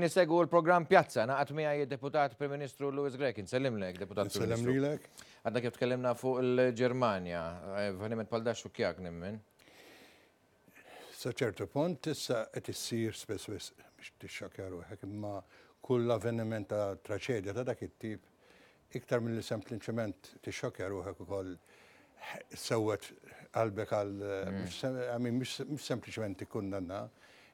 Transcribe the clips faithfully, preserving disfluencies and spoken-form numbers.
Nisegwu l-programm Pjazza, ngħaqad miegħi deputat Prim Ministru Louis Grech. Insellimlek, Deputat Prim Nsellem Ministru. Lilek. Għadna kif tkellimna fuq il-Ġermanja, avveniment bħal dan xxukkjak nemmen. Sa ċertu punt issa qed issir spess wisq biex tixxokkja ruħek, imma kull avveniment ta' traċedja ta' dak it-tip, iktar milli sempliċement tixxokkja ruħek, ukoll sewwet qalbek għal mhux sem- I mean, mhux mhux sempliċement tikkundanna,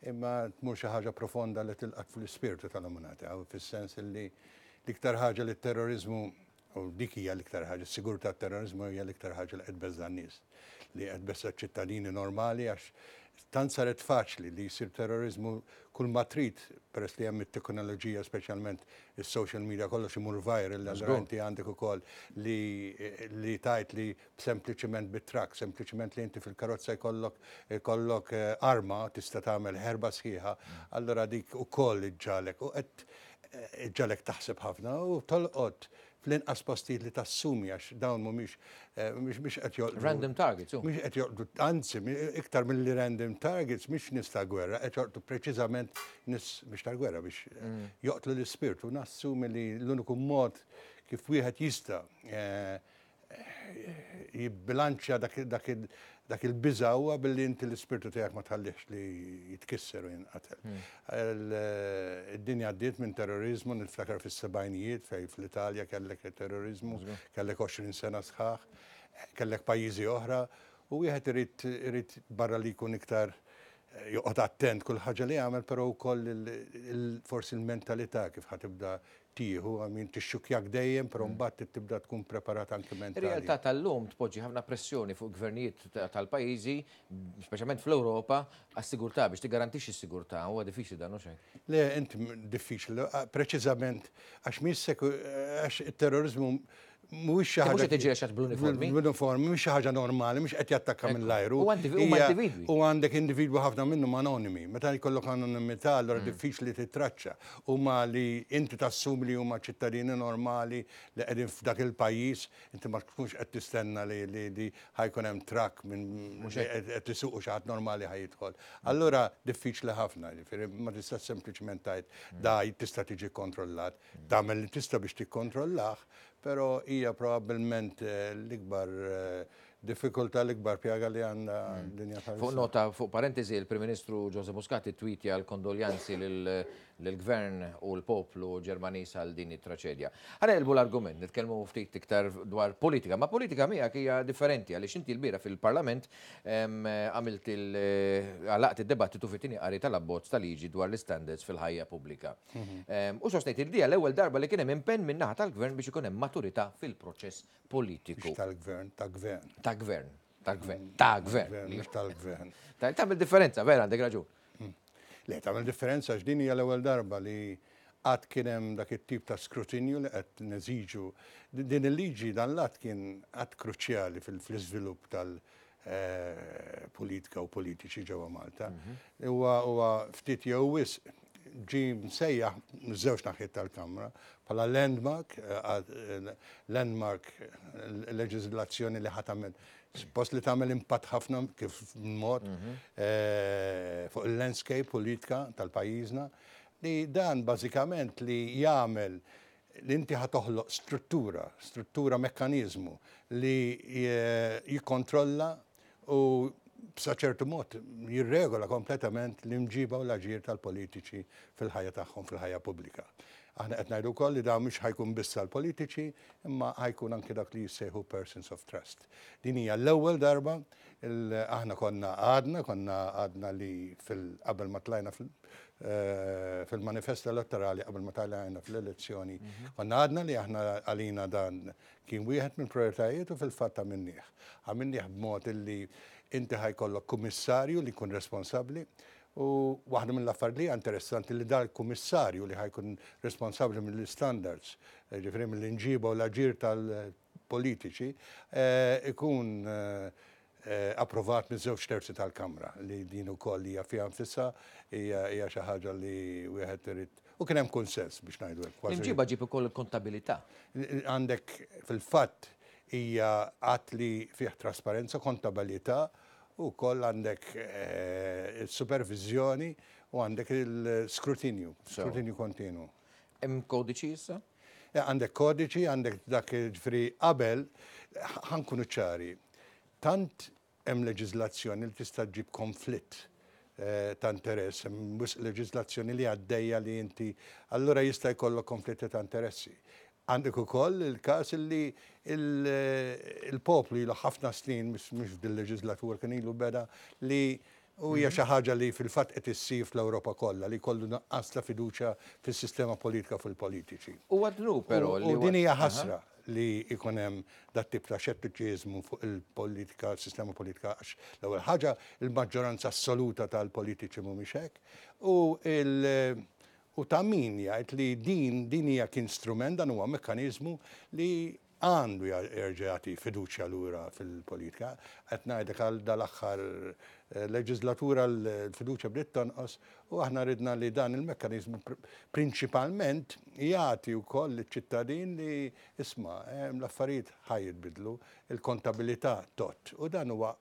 imma tmur xi ħaġa profonda li tilqat fl-ispirtu tal-umanità, u fis-sens li l-iktar ħaġa li t-terrorizmu, u dik hija l-iktar ħaġa, s-sigurtà, terrorizmu hija l-iktar ħaġa li qed tbeżża' n-nies, li qed tbeżża' ċittadini normali, għax tant saret faċli li jsir terrorizmu. Kull ma trid, peress li hemm it-teknoloġija, speċjalment is-social media, kollox imur viral, allura inti għandek ukoll li li tajt li sempliċement bit-trakk, sempliċement li inti fil-karozza jkollok jkollok eh, arma, tista' tagħmel ħerba sħiħa, allura dik ukoll iġġagħlek u qed iġġagħlek taħseb ħafna u tolqot fl-inqas postijiet li tassumi, għax dawn mhumiex eh, mhux mhux qed joqtlu Random targets, u. Mhux qed joqtlu, anzi, mi- iktar milli random targets, mhix nies ta' gwerra, qed joqtlu preċiżament nies mhux tal-gwerra biex eh, joqtlu l-ispirtu. Nassumi li l-uniku mod kif wieħed jista' eh, jibbilanċja dak, dak, il- dak il-biża huwa billi inti l-ispirtu tiegħek ma tħallix li jitkisser u jinqatel. Il- Id-dinja għaddiet minn terrorizmu, niftakar fis-sebgħinijiet fej fl-Italja kellek terrorizmu, kellek għoxrin sena sħaħ, kellek pajjiżi oħra, u wieħed irid irid barra li jkun iktar eh, joqgħod attent kull ħaġa li jagħmel, però wkoll il- il- forsi il-mentalità kif ħa tibda tieħu, I mean, tixxukjak dejjem, però mbagħad tibda tkun preparat anke mentali. Ir-realtà tal-lum tpoġġi ħafna pressjoni fuq gvernijiet ta- tal-pajjiżi, speċjalment fl-Ewropa, għas-sigurtà, biex tigarantixxi s-sigurtà. Huwa diffiċli dan, hux hekk? Le, inti m- diffiċli, ah, preċiżament, għax mhix seku, għax il-terrorizmu mhuwiex xi Mhux ħaġa qed tiġi għax bl-uniformi. Bl-uniformi, mhix xi ħaġa normali, mhux qed jattakka mill-ajru. U għandi- huma Hija- individwi. U għandek individwu, ħafna minnhom anonimi. Meta jkollok anonimità, allura Mm. diffiċli titraċċa. Huma li inti tassumi li huma ċittadini normali li qegħdin f'dak il-pajjiż, inti ma tkunx qed tistenna li li li ħa jkun hemm trakk minn li qed qed isuqu xi ħadd normali ħa jidħol. Allura diffiċli ħafna, ġifieri ma tista' sempliċement tgħid da tista' tiġi kontrollat. Tagħmel li tista' biex tikkontrollah, però hija probabbilment eh, l-ikbar eh, diffikultà, l-ikbar pjaga li għandha d-dinja Fuq bħalissa. nota, fuq parentesi, il-Prim Ministru Joseph Muscat tweetja l-kondoljanzi lill-Gvern u l-poplu Ġermaniż għal din it-traċedja. Ħa naqilbu l-argument, nitkellmu ftit iktar dwar politika, ma politika miegħek hija differenti għaliex inti l-bieraħ fil-Parlament em, għamilt il għalaqt id-debattitu fit-tieni qari tal-abbozz tal-liġi dwar l-standards fil-ħajja pubblika. Em, U sostnejt il dija l-ewwel darba li kien hemm impenn min-naħa tal-Gvern biex ikun hemm maturità fil-proċess politiku. Mhux tal-gvern, ta' gvern. Ta' gvern, ta' gvern, ta' gvern. Gvern, mhux tal-gvern. Ta' tagħmel differenza, vera, għandek raġun. Le, tagħmel differenza, għax din hija l-ewwel darba li qatt kien hemm dak it-tip ta' skrutinju li qed neżiġu. Din il-liġi, dan l-att kien att kruċjali fil-iżvilupp tal- eh, politika u politiċi ġewwa Malta. Huwa huwa ftit jew wisq ġi msejjaħ żewġ naħiet tal-Kamra bħala landmark, eh, eh, landmark eh, leġiżlazzjoni li ħa tagħmel suppost li tagħmel impatt ħafna kif mod eh, fuq il-landscape politika tal-pajjiżna, li dan bażikament li jagħmel li inti ħa toħloq struttura, struttura, mekkanizmu li eh, jikkontrolla u b'sa ċertu mod jirregola kompletament l-imġiba u l-aġir tal-politiċi fil-ħajja tagħhom, fil-ħajja pubblika. Aħna qed ngħidu wkoll li dan mhux ħa jkun biss għall-politiċi, imma ħa jkun anke dak li jissejħu persons of trust. Din hija l-ewwel darba. il- aħna konna għadna, konna għadna li fil qabel ma tlajna fil- eh, fil-manifest elettorali, qabel ma tlajna fl-elezzjoni, konna għadna li aħna għalina dan kien wieħed minn prioritajiet, u fil-fatt għamilnieh. Għamilnieh b'mod illi inti ħa jkollok kummissarju li jkun responsabbli. U waħda mill-affarijiet li hija interessanti li dal-kummissarju li ħa jkun responsabbli mill-standards, eh, ġifieri mill-imġiba u l-aġir tal-politiċi, eh, ikun eh, eh, approvat minn żewġ terzi tal-Kamra, li din ukoll hija fiha nfisha hija hija xi ħaġa li wieħed irid, u kien hemm konsens biex ngħidu hekk. kważi- L-imġiba ġib ukoll il-kontabilità. Għandek fil-fatt hija att li fih trasparenza, kontabilità u koll għandek eh, supervizjoni. U għandek il-skrutinju, skrutinju kontinu. Hemm kodiċi issa? Għandek kodiċi, għandek dak ġifieri qabel, ħa nkunu ċari. Tant hemm leġiżlazzjoni li tista' ġġib konflitt ta' interess, hemm leġiżlazzjoni li għaddejja li inti, allura jista' jkollok konflitti ta' interessi. Għandek ukoll il-każ li il-poplu ilu ħafna snin, mhux f'dil-leġiżlatura kien ilu beda, li u hija xi ħaġa li fil-fatt qed issir fl-Ewropa kollha, li kollu nuqqas ta' fiduċja fis-sistema politika fil-politiċi. U għadnu però li. U din hija ħasra li jkun hemm dat tip ta' xettiċiżmu fuq il-politika, il-sistema politika, għax l-ewwel ħaġa il-maġġoranza assoluta tal-politiċi mhumiex hekk. U il U ta' min jgħid li din din hija kien strument, dan huwa mekkaniżmu li għandu jerġa' jagħti fiduċja lura fil-politika. Qed ngħidlek għal dal-aħħar leġislatura l-fiduċja bdiet tonqos u aħna ridna li dan il-mekkaniżmu prinċipalment jagħti wkoll liċ-ċittadin li isma' l-affarijiet ħa jitbidlu, il-kontabilità tot. U dan huwa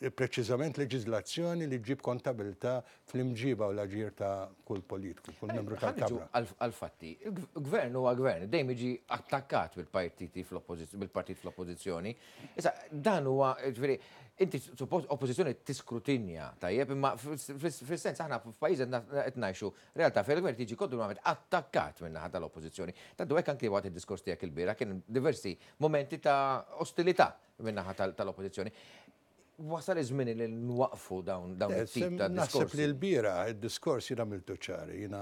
preċiżament leġiżlazzjoni li ġib kontabilità fl-imġiba u l-aġir ta' kull politiku, kull membru tal-Kamra. Għal-fatti, il-gvern huwa gvern, dejjem jiġi attakkat bil-partiti bil-partit fl-oppożizzjoni. Issa, dan huwa, ġifieri, inti suppost oppożizzjoni tiskrutinja, tajjeb, imma fis-sens aħna f'pajjiż qed ngħixu realtà fejn il-gvern tiġi kontinwament attakkat min-naħa tal-oppożizzjoni. Tantu hekk anke waqt id-diskors tiegħek il-bieraħ kien diversi momenti ta' ostilità min-naħa tal-oppożizzjoni. Wasal iż-żmien li nwaqfu dawn dawn it-tip ta' diskors. Naħseb li l-bieraħ id-diskors jiena għamiltu ċari, jiena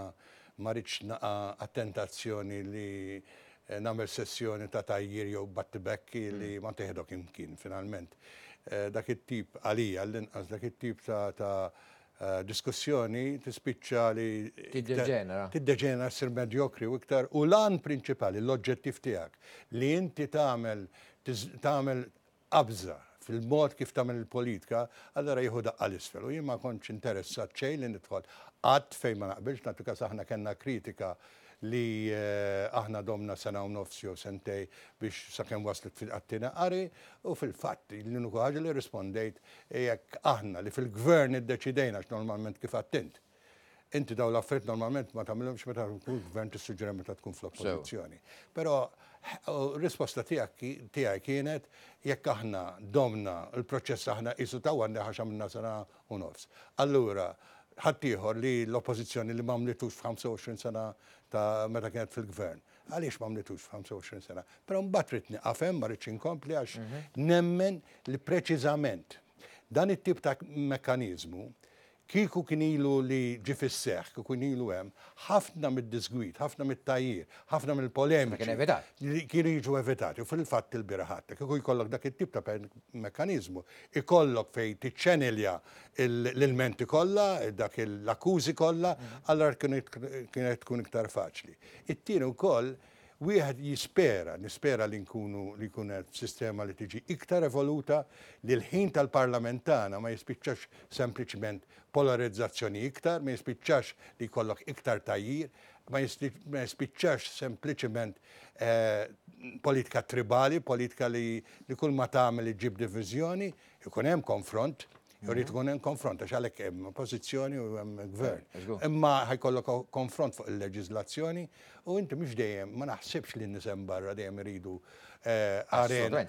ma rridx naqa' attentazzjoni li nagħmel sessjoni ta' tajjir jew battibekki li ma teħdok imkien finalment. Dak it-tip għalija l-inqas dak it-tip ta' diskussjoni tispiċċa li tiddeġenera. Tiddeġenera ssir medjokri u iktar u l-għan prinċipali, l-oġġettiv tiegħek li inti tagħmel tagħmel qabża fil-mod kif tagħmel il-politika, allura jieħu daqqa l-isfel. U jien ma kontx interessat xejn li nidħol qatt fejn ma naqbilx, nagħti każ aħna kellna kritika li aħna domna sena u nofs jew sentej biex sakemm waslet fil-qattina qari, u fil-fatt l-uniku ħaġa li rispondejt jekk aħna li fil-gvern iddeċidejna għax normalment kif attent. Inti daw l-affarijiet normalment ma tagħmilhomx meta tkun gvern tissuġġera meta tkun fl-oppożizzjoni. Però risposta tiegħek tiegħi kienet jekk aħna domna l-proċess aħna qisu tawwanna għax għamilna sena u nofs. Allura ħaddieħor li l-oppożizzjoni li m'għamlitux f'ħamsa u għoxrin sena ta' meta kienet fil-gvern. Għaliex m'għamlitux f'ħamsa u għoxrin sena? Però mbagħad trid nieqaf hemm, ma rridx inkompli għax nemmen li preċiżament dan it-tip ta' mekkaniżmu kieku kien ilu li ġie fis-seħħ, kieku kien ilu hemm, ħafna mid-disgwid, ħafna mit-tajjir, ħafna mill-polemiċi Kien evitat. li kienu jiġu evitati. U fil-fatt il-bieraħ ħadd, kieku jkollok dak it-tip ta' mekkaniżmu, ikollok fejn tiċċenilja l-ilmenti kollha, dak l-akkużi kollha, allura kienet tkun iktar faċli. It-tieni wkoll wieħed jispera, nispera li nkunu li jkun hemm sistema li tiġi iktar evoluta li l-ħin tal-parlamentana ma jispiċċax sempliċement polarizzazzjoni iktar, ma jispiċċax li jkollok iktar tajjir, ma jispiċċax sempliċement politika tribali, politika li kull ma tagħmel iġġib diviżjoni, ikun hemm konfront, jrid ikun hemm konfront għax għalhekk hemm oppożizzjoni u hemm gvern. Imma ħajkollok konfront fuq il-leġiżlazzjoni u inti mhux dejjem ma naħsibx li n-nies hemm barra dejjem iridu arena.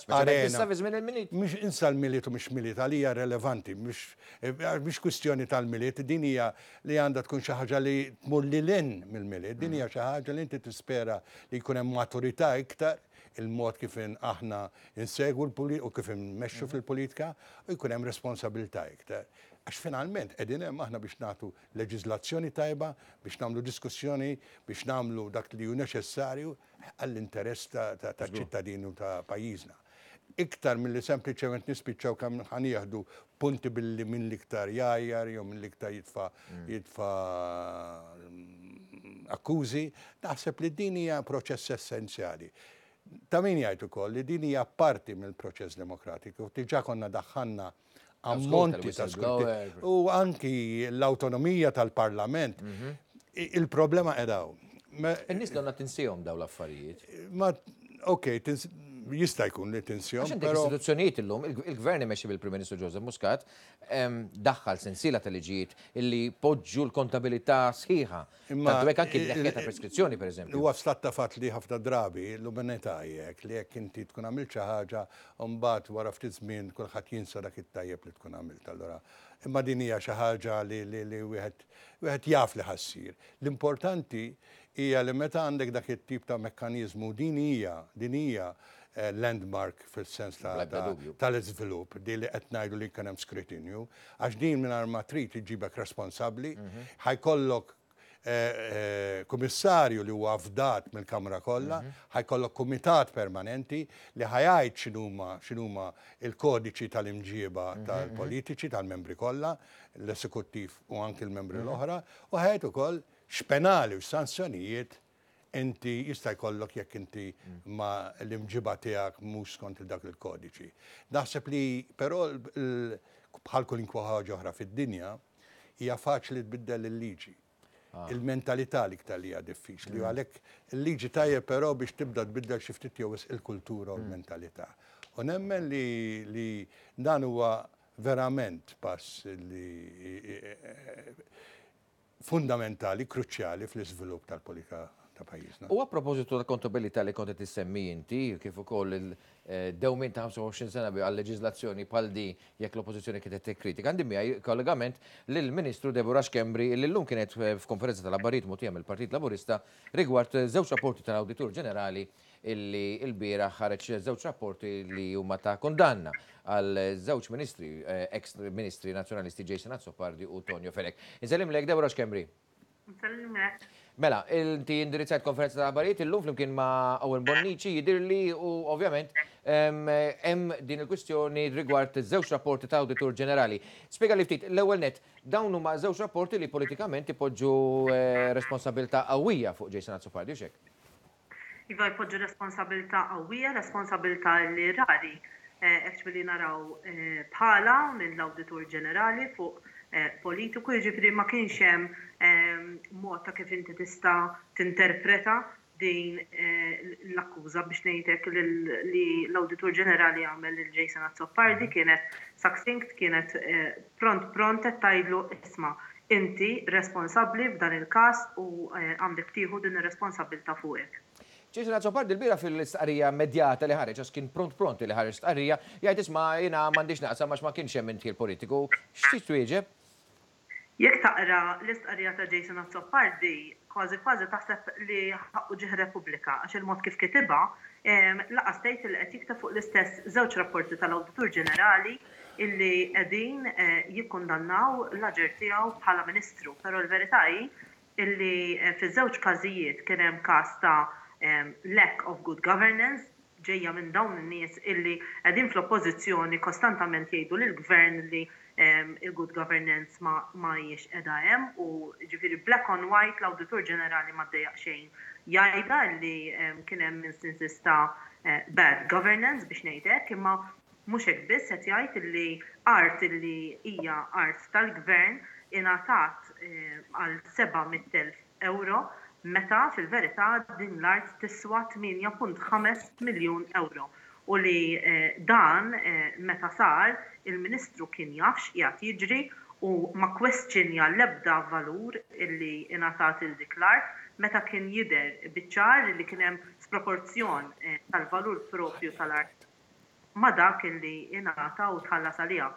Mhux insa l-Milied u mhux Milied għalija relevanti, mhux kwistjoni tal-Milied, din hija li għandha tkun xi ħaġa li tmur lil hinn mill-Milied, din hija xi ħaġa li inti tispera li jkun hemm maturità iktar il-mod kif aħna insegwu l-politika u kif immexxu fil-politika u jkun hemm responsabilità iktar. Għax finalment qegħdin hemm aħna biex nagħtu leġiżlazzjoni tajba, biex nagħmlu diskussjoni, biex nagħmlu dak li hu neċessarju għall-interess ta' ċittadini u ta' pajjiżna. Iktar milli sempliċement nispiċċaw kemm ħa nieħdu punti billi minn l-iktar jgħajjar jew minn l-iktar jitfa' jitfa' akkużi, naħseb li din hija proċess essenzjali. Ta' min jgħid ukoll li din hija parti mill-proċess demokratiku, diġà konna daħħalna ammonti ta' skrutinju u anki l-awtonomija tal-Parlament. Il-problema qed hawn. In-nies donna tinsihom dawn l-affarijiet. Ma, ok, Jista' jkun li tinsihom. Għax għandek istituzzjonijiet illum, il-gvern imexxi bil-Prim Ministru Joseph Muscat daħħal sensiela ta' liġijiet illi poġġu l-kontabilità sħiħa. Imma Tantu hekk anki l ta' preskrizzjoni, pereżempju. Huwa stat ta' fatt li ħafna drabi l-umanità jekk li jekk inti tkun għamilt xi ħaġa, mbagħad wara ftit żmien kulħadd jinsa dak it-tajjeb li tkun għamilt. Allura, imma din hija xi ħaġa li li wieħed wieħed jaf li ħa ssir. L-importanti hija li meta għandek dak it-tip ta' mekkaniżmu, din hija din hija eh, landmark fil-sens tal-iżvilupp, di li qed ngħidu li kien hemm skrutinju, għax din mingħajr ma trid iġibek responsabbli, mhm. ħa jkollok eh, eh, kummissarju li huwa afdat mill-Kamra kollha, mhm. ħa jkollok kumitat permanenti li ħa jgħid x'inhuma x'inhuma il-kodiċi tal-imġiba mhm, tal-politiċi, tal-membri kollha, l-esekuttiv u anki l-membri l-oħra, u ħa jgħid ukoll x'penali u sanzjonijiet inti jista' jkollok jekk inti ma l-imġiba tiegħek mhux skont dak il-kodiċi. Naħseb li però bħal kwalunkwe ħaġa oħra fid-dinja, hija faċli tbiddel il-liġi. Ah. Il-mentalità l-iktar li hija diffiċli. Mm. Għalhekk il-liġi tajjeb, però biex tibda tbiddel xi ftit jew il-kultura u mm. l-mentalità. U nemmen li, li dan huwa verament pass li fundamentali, kruċjali fl-iżvilupp tal-politika ta' pajjiżna. U a propositu ta' kontabilità li kont tissemmi inti, kif ukoll il-dewmin ta' ħamsa u għoxrin sena għal leġiżlazzjoni bħal di jekk l-oppożizzjoni kienet tikkritika. Għandi miegħi kollegament lill-Ministru Deborah Schembri, li llum kienet f'konferenza tal-aħbarijiet mogħtija mill-Partit Laburista rigward żewġ rapporti tal-Awditur Ġenerali, illi l-bieraħ ħareġ żewġ rapporti li huma ta' kondanna għal żewġ ministri, eh, ex ministri nazzjonalisti, Jason Azzopardi u Tonio Fenech. Insellimlek, Deborah Schembri. Nsellimlek. Mela, inti indirizzajt konferenza ta' aħbarijiet illum flimkien ma' Owen Bonnici, jidirli, u ovvjament hemm din il-kwistjoni rigward żewġ rapporti ta' Awditur Ġenerali. Spjega li ftit, l-ewwel net, dawn huma żewġ rapporti li politikament ipoġġu eh, responsabilità qawwija fuq Jason Azzopardi, u hekk? Iva, jpoġġu responsabilità qawwija, responsabilità li rari actually naraw eh, bħala mill-Awditur Ġenerali fuq eh, politiku, jiġifieri ma kienx hemm mod ta' kif inti tista' tinterpreta din eh, l-akkuża, biex ngħidlek, li l-Awditur Ġenerali għamel lil Jason Azzopardi. Kienet succinct, kienet pront pront qed tgħidlu: "Isma', inti responsabbli f'dan il-każ u għandek tieħu din ir-responsabilità fuqek." Jason Azzopardi l-bieraħ fil-istqarrija immedjata li ħareġ, għax kien pront pront li ħareġ stqarrija, jgħid: "Isma', jiena m'għandix naqsam għax ma kienx hemm indħil politiku." X'trid twieġeb? Jekk taqra l-istqarrija ta' Jason Azzopardi, kważi kważi taħseb li ħaqqu ġieħ Repubblika, għax il-mod kif kitibha, lanqas tgħid li qed jikteb fuq l-istess żewġ rapporti tal-Awditur Ġenerali illi qegħdin eh, jikkundannaw l-aġir tiegħu bħala ministru. Però l-verità hi illi eh, fiż-żewġ każijiet kien hemm każ ta' lack of good governance ġejja minn dawn in-nies illi qegħdin fl-oppożizzjoni, kostantament jgħidu lill-gvern li il-good governance ma ma hijiex qiegħda hemm. U ġifieri black on white l-Awditur Ġenerali ma ddejjaq xejn jgħidha li kien hemm instances ta' eh, bad governance, biex ngħidlek. Imma mhux hekk biss, qed jgħid li art illi hija art tal-gvern ingħatat eh, għal seba' mitt elf euro meta fil-verità din l-art tiswa tmienja punt ħamsa miljun euro u li eh, dan eh, meta sar, il-ministru kien jaf x'qiegħed jiġri u ma kwestjonja l-ebda valur illi ingħatat il dik l-art meta kien jidher biċ-ċar li kien hemm sproporzjon eh, tal-valur propju tal-art ma dak illi ingħata u tħallas għaliha.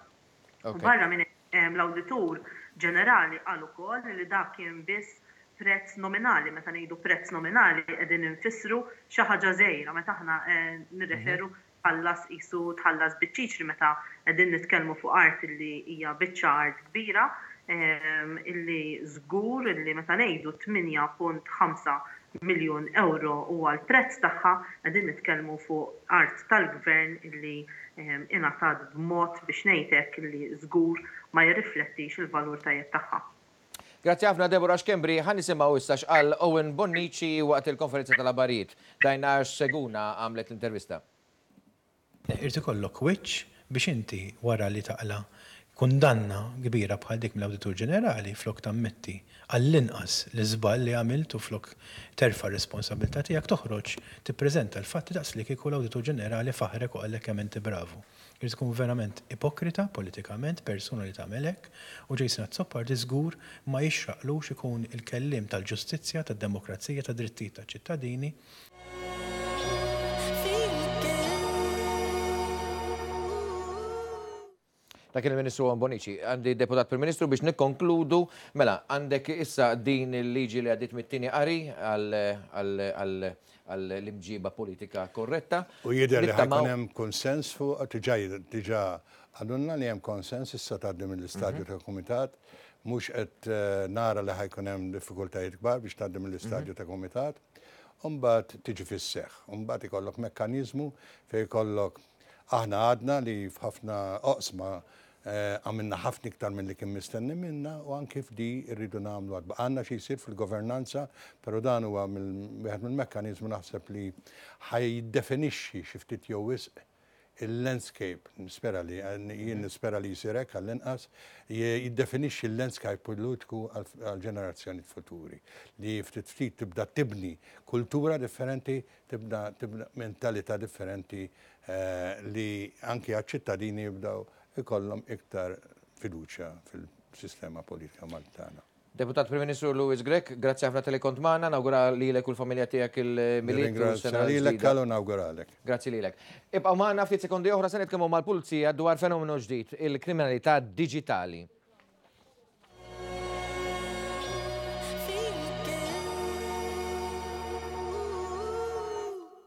U barra minn l-Awditur Ġenerali qal ukoll li dak kien biss prezz nominali. Meta ngħidu prezz nominali qegħdin infissru xi ħaġa żgħira, meta aħna eh, nirreferu tħallas qisu tħallas biċ-ċiċri, meta qegħdin nitkellmu fuq art illi hija biċċa art kbira, ehm, illi żgur illi meta ngħidu tmienja punt ħamsa miljun euro huwa l-prezz tagħha, qegħdin nitkellmu fuq art tal-gvern illi ehm, ingħatat b'mod, biex ngħidlek, illi żgur ma jirriflettix il-valur tajjeb tagħha. Grazzi ħafna, Deborah Schembri. Ħa nisimgħu issa x'qal Owen Bonnici waqt il-konferenza tal-aħbarijiet. Dajna Seguna għamlet l-intervista. Irid ikollok wiċċ biex inti wara li taqla Kundanna kbira bħal dik mill-Awditur Ġenerali, flok tammetti għall-inqas l-iżball li għamilt u flok terfa' r-responsabilità tiegħek, toħroġ tippreżenta l-fatti daqs li kieku l-Awditur Ġenerali faħrek u qallek kemm inti bravu. Irid tkun verament ipokrita politikament persuna li tagħmel hekk, u Jason Azzopardi żgur ma jixraqlux ikun il-kelliem tal-ġustizzja, tad-demokrazija, tad-drittijiet taċ-ċittadini. Dak il-Ministru Owen Bonnici. Għandi Deputat Prim Ministru biex nikkonkludu, mela, għandek issa din il-liġi li għaddit mit-tieni qari għall-imġiba politika korretta. U jidher li ħajkun hemm konsens fuq, diġà diġà għadunna li hemm konsens, issa tgħaddi mill-istadju ta' kumitat, mhux qed nara li ħajkun hemm diffikultajiet kbar biex tgħaddi mill-istadju ta' kumitat. Imbagħad tiġi fis-seħħ, imbagħad ikollok mekkaniżmu fejn ikollok, aħna għadna li f'ħafna oqsma għamilna ħafna iktar minn li kien mistenni minna, u anki f'di rridu nagħmlu għadba. Għandna xi jsir fil-governanza, però dan huwa wieħed mill-mekkaniżmu naħseb li ħajdefinixxi xi ftit jew wisq il-landscape, nispera li, jien nispera li jsir hekk għall-inqas, jiddefinixxi l-landscape politiku għall-ġenerazzjoni futuri, li ftit ftit tibda tibni kultura differenti, tibda tibda mentalità differenti, li anki għaċ-ċittadini jibdaw ikollhom iktar fiduċja fil-sistema politika Maltana. Deputat Prim Ministru Louis Grech, grazzi ħafna tal-li kont magħna, nawgura lilek u l-familja tiegħek il-Milied u Ringrazzja s-sena lilek, l-ġdida. Kallu, nawguralek. Grazzi lilek. Ibqgħu magħna, ftit sekondi oħra se nitkellmu mal-pulizija dwar fenomenu ġdid, il-kriminalità diġitali.